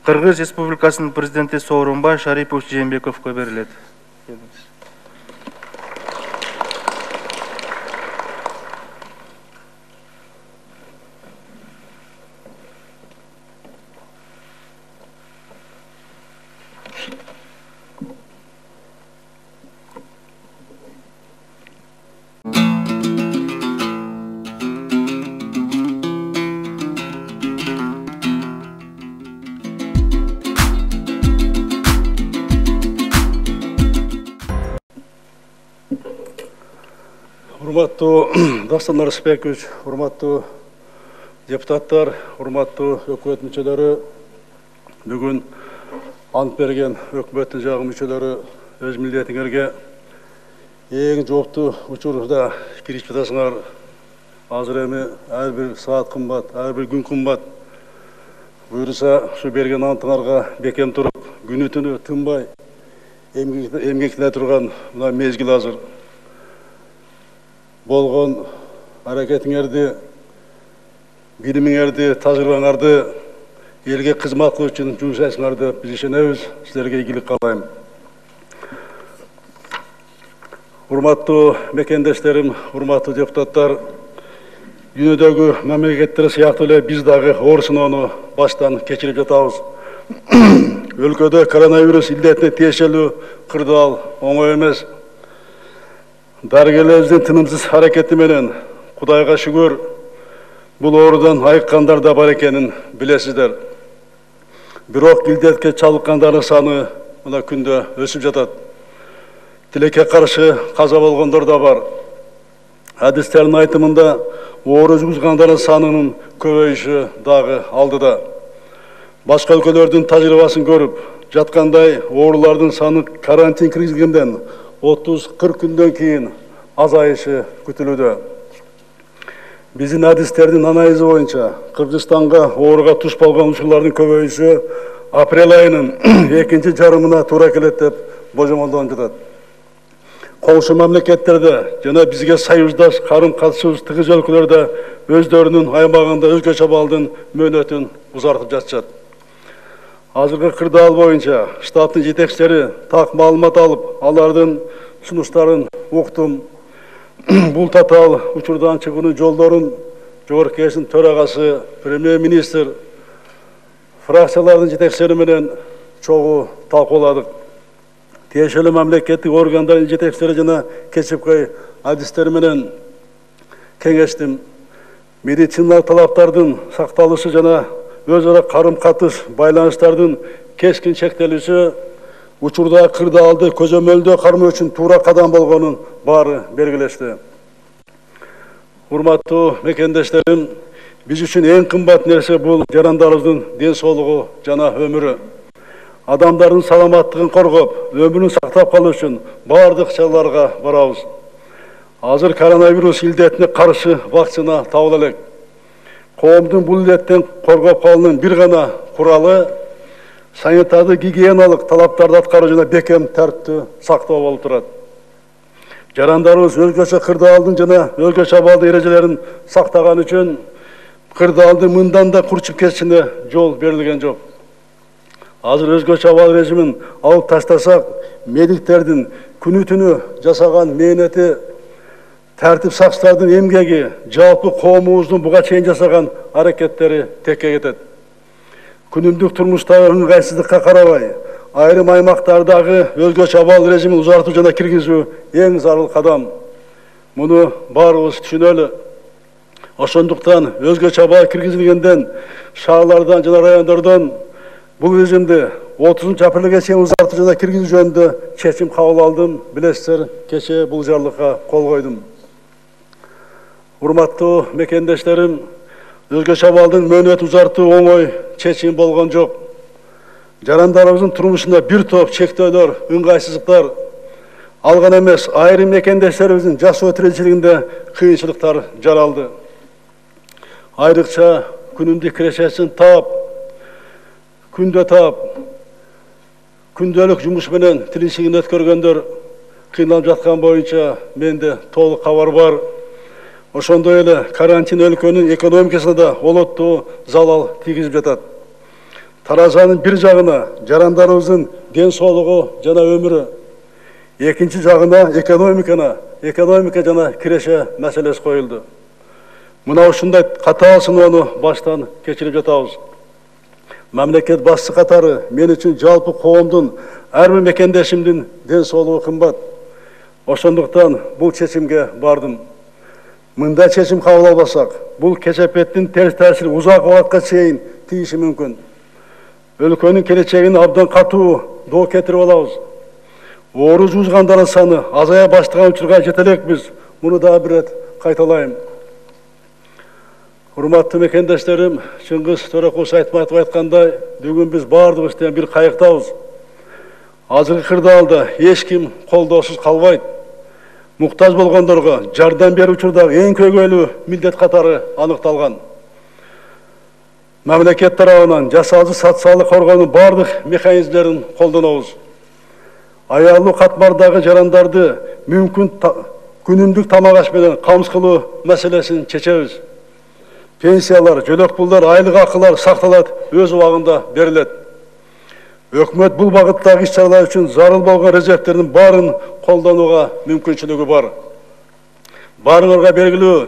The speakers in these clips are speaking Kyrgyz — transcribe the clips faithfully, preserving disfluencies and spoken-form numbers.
Кыргыз Республикасынын президенти Сооронбай Шарипович Жээнбековго берилет. Урматтуу Дастан Арысбекович, урматтуу депутаттар, урматтуу өкмөт мүчөлөрү, бүгүн ант берген өкмөттүн жагы мүчөлөрү өз милдетиңерге эң жооптуу учурда кирип жатасыңар. Азыр эми ар бир саат кымбат, ар бир күн кымбат. Буюрса, ушу берген антыңарга бекем туруп, күнү түнү тынбай эмгектене турган мына мезгил азыр. Болгон аракетиңерди, билимиңерди, тажрыйбаңарды элге кызмат кылуу үчүн жумшайсыңарды биз ишенебиз. Силерге ийгилик каалайм. Урматтуу мекендештерим, урматтуу депутаттар, дүйнөдөгү мамлекеттер сыяктуу эле биз дагы оор сыноону баштан кечирип жатабыз. Өлкөдө коронавирус илдетине тиешелүү кырдаал оңой эмес. Дарыгерлерибиздин тынымсыз аракети менен Кудайга шүгүр бул оорудан айыккандар да бар экенин билесиздер. Бирок илдетке чалдыккандардын саны мына күндө өсүп жатат. Тилекке каршы каза болгондор да бар. Адистердин айтымында оору жугузгандардын санынын көбөйүшү дагы алдыда. Башка өлкөлөрдүн тажрыйбасын көрүп жаткандай, оорулардын саны карантин киргизилгенден отуз кырк күндөн кийин азайышы күтүлүүдө. Биздин адистердин анализи боюнча Кыргызстанга ооруга туш болгон учурлардын көбөйүшү апрель айынын экинчи жарымына туура келет деп божомолдонуп жатат. Коңшу мамлекеттерде жана бизге союздаш карым катышуубуз тыгыз өлкөлөрдө өздөрүнүн аймагында өзгөчө абалдын мөөнөтүн узартып жатышат. Азыркы кырдаал боюнча штаттын жетекчилери так маалымат алып, алардын сунуштарын уктум. Бул татаал учурдан чыгуунун жолдорун Жогорку Кеңештин төрагасы, премьер-министр, фракциялардын жетекчилери менен чогуу талкууладык. Тиешелүү мамлекеттик органдардын жетекчилери жана кесипкөй адистери менен кеңештим. Медициналык талаптардын сакталышы жана өз ара карым катыш байланыштардын кескин чектелиши учурда кырдаалды көзөмөлдөө кармоо үчүн туура кадам болгонун баары белгилешти. Урматтуу мекендештерим, биз үчүн эң кымбат нерсе бул жарандарыбыздын ден соолугу жана өмүрү. Адамдардын саламаттыгын коргоп, өмүрүн сактап калуу үчүн баардык чараларга барабыз. Азыр коронавирус илдетине каршы вакцина табыла элек. Коомдун бул илдеттен коргоп калуунун бир гана куралы санитардык гигиеналык талаптарды аткаруу жана бекем тартиптүү сактоо болуп турат. Жарандарыбыз өзгөчө кырдаалдын жана өзгөчө абалдын эрежелерин сактаган үчүн кырдаалдын мындан да курчуп кетишине жол берилген жок. Азыр өзгөчө абал режимин алып таштасак, медиктердин күнү түнү жасаган мээнети, тартип сакчылардын эмгеги, жалпы коомубуздун буга чейин жасаган аракеттери текке кетет. Күнүмдүк турмуштагы ыңгайсыздыкка карабай, айрым аймактардагы өзгөчө абал режимин узартуу жана киргизүү эң зарыл кадам. Муну баарыбыз түшүнөлү. Ошондуктан өзгөчө абал киргизилгенден шаарлардан жана райондордон бул режимди отузунчу апрелге чейин узартуу жана киргизүү жөнүндө чечим кабыл алдым. Билесиздер, кечээ бул жарлыкка кол койдум. Урматтуу мекендештерим, өзгөчө абалдын мөөнөт узартуу оңой чечим болгон жок. Жарандарыбыздын турмушунда бир топ чектөөлөр, ыңгайсыздыктар алган эмес, айрым мекендештерибиздин жашоо тиричилигинде кыйынчылыктар жаралды. Айрыкча күнүмдүк кирешесин таап, күндө таап, күндөлүк жумуш менен тиричилигин өткөргөндөр кыйналып жаткан боюнча менде толук кабар бар. Ошондой эле карантин өлкөнүн экономикасына да олоттуу залал тийгизип жатат. таразанын бир жагына жарандарыбыздын ден соолугу жана өмүрү, экинчи жагына экономикана, экономика жана киреше маселеси коюлду. Мына ушундай катаал сыноону баштан кечирип жатабыз. Мамлекет башчысы катары мен үчүн жалпы коомдун ар бир мекендешимдин ден соолугу кымбат. Ошондуктан бул чечимге бардым. Мындай чечим кабыл албасак, бул кесепеттин терс таасири узак убакытка чейин тийиши мүмкүн. Өлкөнүн келечегин абдан катуу доо кетирип алабыз. Оору жуузгандардын саны азая баштаган учурга жете элекпиз. Муну дагы бир рет кайталайм. Урматтуу мекендештерим, Чыңгыз Төрөкулович Айтматов айткандай, бүгүн биз баардыгыбыз тең бир кайыктабыз. Азыркы кырдаалда эч ким колдоосуз калбайт. Муктаж болгондорго жардам берүү учурдагы эң көйгөйлүү милдет катары аныкталган. Мамлекет тарабынан жасалчу социалдык коргоонун бардык механизмдерин колдонобуз. Аялуу катмардагы жарандарды мүмкүн күнүмдүк тамак аш менен камсыз кылуу маселесин чечебиз. Пенсиялар, жөлөк пулдар, айлык акылар сакталат, өз убагында берилет. Өкмөт бул багыттагы иш-чаралар үчүн зарыл болгон резервтердин баарын колдонууга мүмкүнчүлүгү бар. Баарыңарга белгилүү,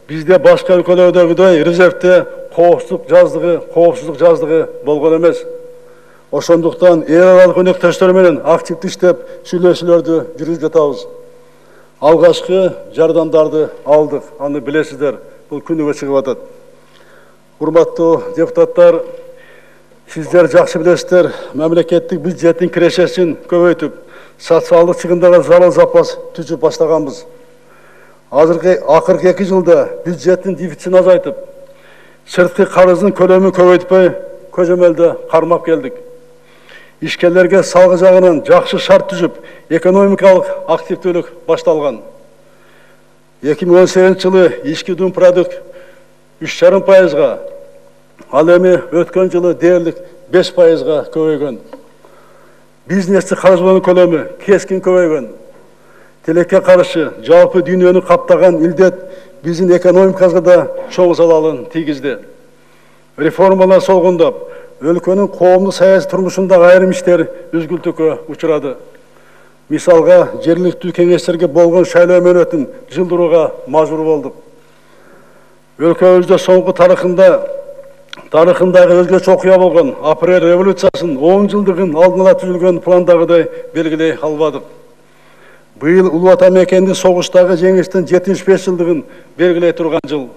бизде башка өлкөлөрдөгүдөй резервте коопсуздук жаздыгы, коопсуздук жаздыгы болгон эмес. Ошондуктан эл аралык өнөктөштөр менен активдүү иштеп, сүйлөшүүлөрдү жүргүзүп жатабыз. Алгачкы жардамдарды алдык, аны билесиздер, бул күнүгө чыгып атат. Урматтуу депутаттар, сиздер жакшы билесиздер, мамлекеттик бюджеттин кирешесин көбөйтүп, социалдык чыгымдарга зарыл запас түзүп баштаганбыз. Азыркы акыркы эки жылда бюджеттин дефицитин азайтып, сырткы карыздын көлөмүн көбөйтпөй, көзөмөлдө кармап келдик. Ишкерлерге салгы жагынан жакшы шарт түзүп, экономикалык активдүүлүк башталган. эки миң он сегизинчи жылы ички дум продукт үч жарым пайызга, ал эми өткөн жылы дээрлик беш пайызга көбөйгөн. Бизнести каржылоонун көлөмү кескин көбөйгөн. Тилекке каршы жалпы дүйнөнү каптаган илдет биздин экономикабызга да чоң залалын тийгизди. Реформалар солгундап, өлкөнүн коомдук саясий турмушундагы айрым иштер үзгүлтүккө учурады. Мисалга, жергиликтүү кеңештерге болгон шайлоо мөөнөтүн жылдырууга мажбур болдук. Өлкөбүздө соңку тарыхында тарыхындагы өзгөчө окуя болгон апрель революциясынын он жылдыгын алдын ала түзүлгөн пландагыдай белгилей албадык. Быйыл Улуу Ата мекендин согуштагы жеңиштин жетимиш беш жылдыгын белгилей турган жыл.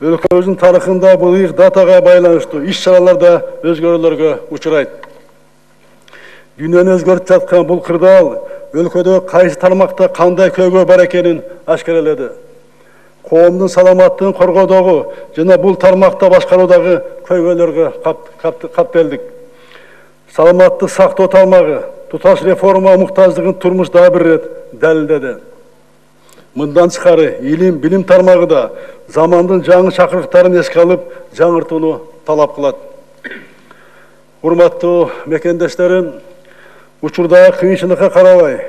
Өлкөбүздүн тарыхында бул ыйык датага байланыштуу иш-чаралар да өзгөрүүлөргө учурайт. Дүйнөнү өзгөртүп жаткан бул кырдаал өлкөдө кайсы тармакта кандай көйгөй бар экенин ашкаралады. Коомдун саламаттыгын коргоодогу жана бул тармакта башкаруудагы көйгөйлөргө каптелдик. Саламаттык сактоо тармагы туташ реформа муктаждыгын турмуш дагы бир рет далилдеди. Мындан тышкары илим, билим тармагы да замандын жаңы чакырыктарын эске алып, жаңыртууну талап кылат. Урматтуу мекендештерим, учурдагы кыйынчылыкка карабай,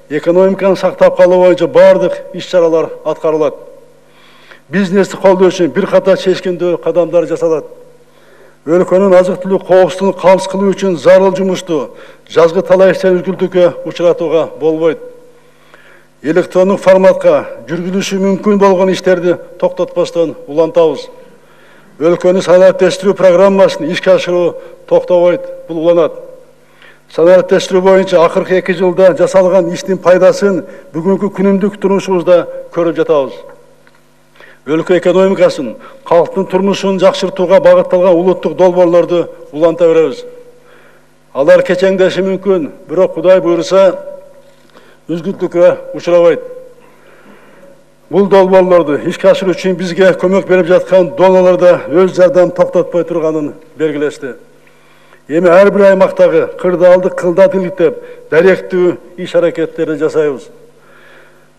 экономиканы сактап калуу боюнча бардык иш-чаралар аткарылат. Бизнести колдоо үчүн бир катар чечкиндүү кадамдар жасалат. Өлкөнүн азык-түлүк коопсуздугун камсыз кылуу үчүн зарыл жумушту жазгы талай иштер үзгүлтүккө учуратууга болбойт. Электрондук форматка жүргүзүлүшү мүмкүн болгон иштерди токтотпостон улантабыз. Өлкөнү санариптештирүү программасын ишке ашыруу токтобойт, бул уланат. Санариптештирүү боюнча акыркы эки жылда жасалган иштин пайдасын бүгүнкү күнүмдүк турмушубузда көрүп жатабыз. Өлкө экономикасын, калктын турмушун жакшыртууга багытталган улуттук долбоорлорду уланта беребиз. Алар кечеңдеши мүмкүн, бирок Кудай буйруса үзгүлтүккө учурабайт. Бул долбоорлорду ишке ашыруу үчүн бизге көмөк берип жаткан донорлор да өз жардам токтотпой турганын белгилешти. Эми ар бир аймактагы кырдаалды кылдат иликтеп, даректүү иш-аракеттерди жасайбыз.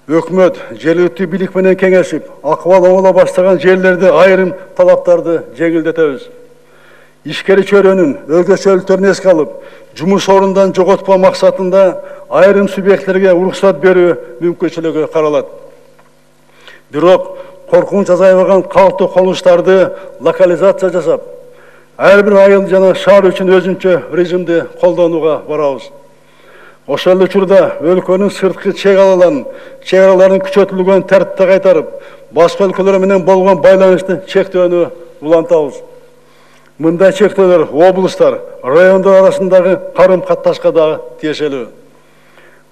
Өкмөт жергиликтүү бийлик менен кеңешип, акыбал оңоло баштаган жерлерде айрым талаптарды жеңилдетебиз. Ишкери чөйрөнүн өзгөчөлүктөрүн эске алып, жумуш орундан жоготпоо максатында айрым субъекттерге уруксат берүү мүмкүнчүлүгү каралат. Бирок коркунуч азайбаган калктуу колунуштарды локализация жасап, ар бир айыл жана шаар үчүн өзүнчө режимди колдонууга барабыз. Ошол учурда өлкөнүн сырткы чек араларын күчөтүлгөн тартипте кайтарып, башка өлкөлөр менен болгон байланышты чектөөнү улантабыз. Мындай чектөөлөр облустар, райондор арасындагы карым катташка дагы тиешелүү.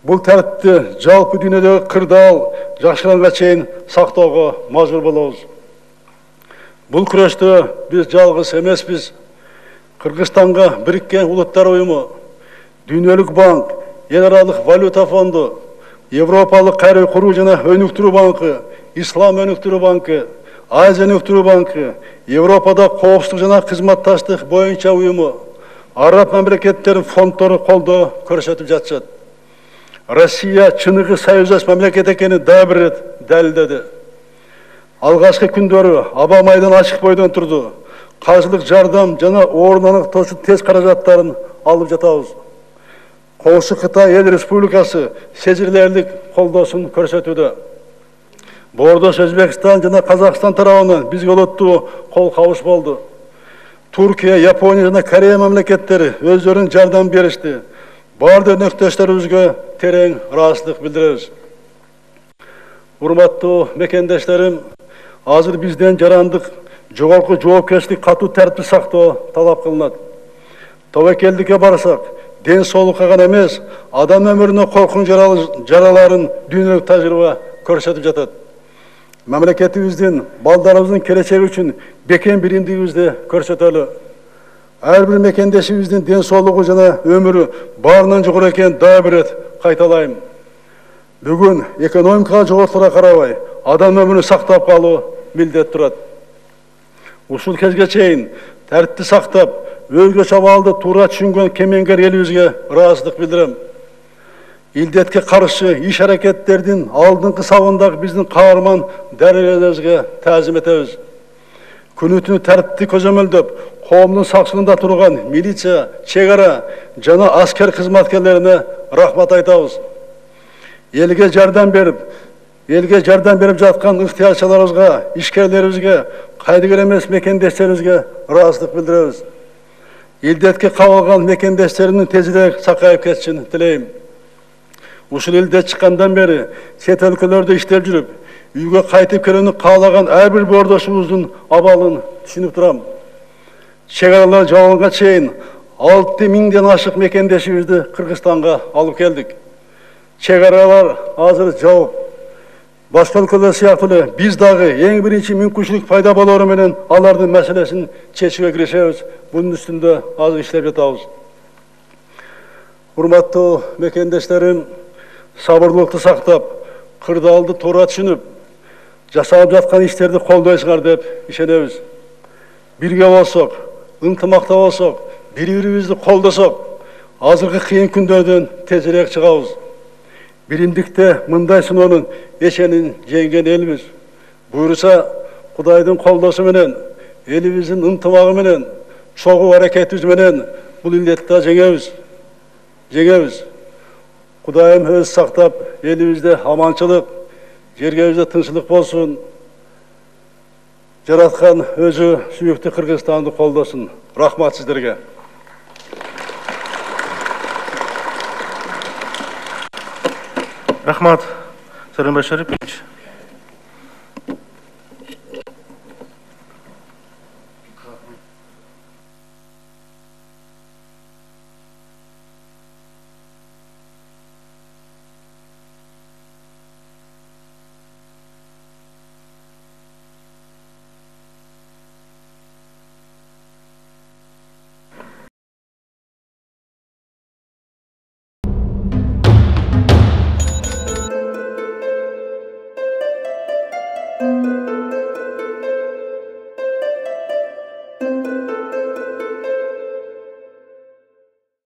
Бул тартипти жалпы дүйнөдөгү кырдаал жакшыранга чейин сактоого мажбур болобуз. Бул күрөштө биз жалгыз эмеспиз. Кыргызстанга Бириккен Улуттар Уюму, Дүйнөлүк банк, Эл аралык валюта фонду, Европалык кайра куруу жана өнүктүрүү банкы, Ислам өнүктүрүү банкы, Азия өнүктүрүү банкы, Европада коопсуздук жана кызматташтык боюнча уюму, араб мамлекеттеринин фонддору колдоо көрсөтүп жатышат. Россия чыныгы союздаш мамлекет экенин дагы бир ирет далилдеди. Алгачкы күндөрү аба майдан ачык бойдон турду. Каржылык жардам жана орун аныктоочу тест каражаттарын алып жатабыз. Коңшу Кытай Эл Республикасы сезилерлик колдоосун көрсөтүүдө. Боордош Өзбекстан жана Казакстан тарабынан бизге олоттуу кол кабыш болду. Туркия, Япония жана Корея мамлекеттери өздөрүнүн жардам беришти. Бардык өнөктөштөрүбүзгө терең ыраазычылык билдиребиз. Урматтуу мекендештерим, азыр бизден жарандык жогорку жоопкерчилик катуу тартипти сактоо талап кылынат. Тобокелдикке барсак, ден соолукка гана эмес, адам өмүрүнө коркунуч жараларын дүйнөлүк тажрыйба көрсөтүп жатат. Мамлекетибиздин, балдарыбыздын келечеги үчүн бекем биримдигибизди көрсөтөлү. Ар бир мекендешибиздин ден соолугу жана өмүрү баарынан жогору экенин дагы бир ирет кайталайм. Бүгүн экономикага жоготууга карабай, адам өмүрүн сактап калуу милдет турат. Ушул кезге чейин тартипти сактап, өзгө чабаалды туура түшүнгөн кемеңгер элибизге ыраазычылык билдирем. Илдетке каршы иш аракеттердин алдыңкы сабындагы биздин каарман дарыгерлерибизге таазим этебиз. Күнү-түнү тартипти көзөмөлдөп, коомдун сакчылыгында турган милиция, чек ара жана аскер кызматкерлерине рахмат айтабыз. Элге жардам берип, элге жардам берип жаткан ыктыярчыларыбызга, ишкерлерибизге, кайдыгер эмес мекендештерибизге ыраазычылык билдиребиз. Илдетке кабылган мекендештеримдин тезирээк сакайып кетишин тилейм. Ушул элде чыккандан бери чет өлкөлөрдө иштеп жүрүп, үйгө кайтып келүүнү каалаган ар бир боордошубуздун абалын түшүнүп турам. Чек аралар жабылганга чейин алты миңден ашык мекендешибизди Кыргызстанга алып келдик. Чек аралар азыр жабып, башка өлкөлөр сыяктуу эле биз дагы эң биринчи мүмкүнчүлүк пайда болоору менен алардын маселесин чечүүгө киришебиз. Бунун үстүндө азыр иштеп жатабыз. Урматтуу мекендештерим, сабырлыкты сактап, кырдаалды туура түшүнүп, жасалып жаткан иштерди колдойсуңар деп ишенебиз. Бирге болсок, ынтымакта болсок, бири-бирибизди колдосок, азыркы кыйын күндөрдөн тезирээк чыгабыз. Биримдикте мындай сыноонун эшенин жеңген элбиз. Буйруса, Кудайдын колдосу менен, элибиздин ынтымагы менен, чогуу аракетибиз менен бул илдетти жеңебиз. Жеңебиз. Кудайым өз сактап, элибизде аманчылык, жергебизде тынччылык болсун. Жараткан өзү сүйүктүү Кыргызстанды колдосун. Рахмат сиздерге. Рахмат, Сооронбай Шарипович. Thank you.